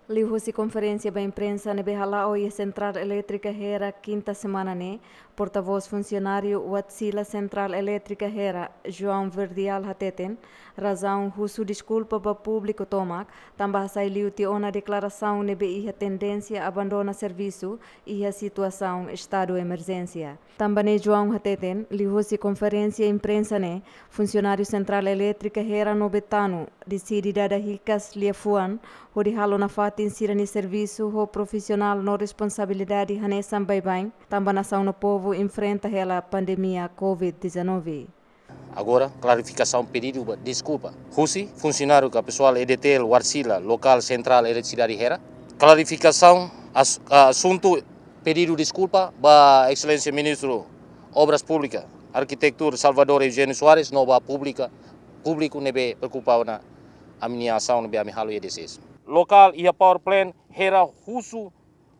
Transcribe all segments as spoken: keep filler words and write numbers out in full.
Liuhusi konferénsia ba imprensa ne'ebé hala'o iha Sentrál Elétrika Hera kinta semana ne'e, portavós funsionáriu Watsila Sentrál Elétrika Hera, João Verdial hateten, razaun husu deskulpa ba públiku tomak, tanba hasai liu tiha ona deklarasaun ne'ebé iha tendénsia abandona servisu iha situasaun estadu emerjénsia. Tanba ne'e João hateten, liuhusi konferénsia imprensa ne'e, funsionáriu Sentrál Elétrika Hera no Betano deside dada hikas liafuan, hodi halo nafatin sira-nia servisu ho profisionál no responsabilidade hanesan baibain, tanba nasaun no povu enfrenta hela pandemia covid dezanove. Agora, klarifikasaun pedidu ba deskulpa husi funsionáriu ka pesoál E D T L Watsila, lokál Sentrál Eletrisidade Hera. Klarifikasaun as-, asuntu pedidu deskulpa ba Exelénsia Ministru Obras Públikas, Arkitektura Salvador Eugênio Soares, no ba públika, públiku ne'ebé preokupa ona ami-nia asaun ne'ebé ami halo iha D C S. Lokál iha power plant Hera husu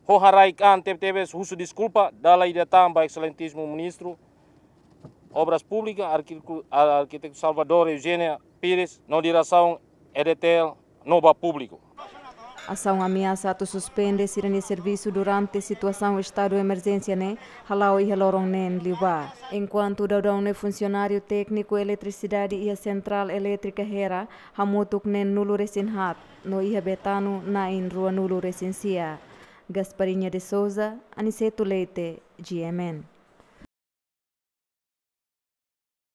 ho haraik an tebetebes husu deskulpa dala ida tan ba Exelentísimu Ministru Obras Públikas, Arkitektu-, Arkitektu Salvador Eugênio Pires, no diresaun E D T L, no ba públiku. Asaun ameasa atu suspende sira-nia servisu durante situasaun estadu emerjénsia ne'e hala'o iha loron neen liubá. Enkuantu daudaun ne'e funsionáriu tékniku eletrisidade iha Sentrál Elétrika Hera hamutuk neen nulu resin haat, no iha Betano na'in rua nulu resin sia. Gasparinha de Souza, Aniceto Leite, G M N.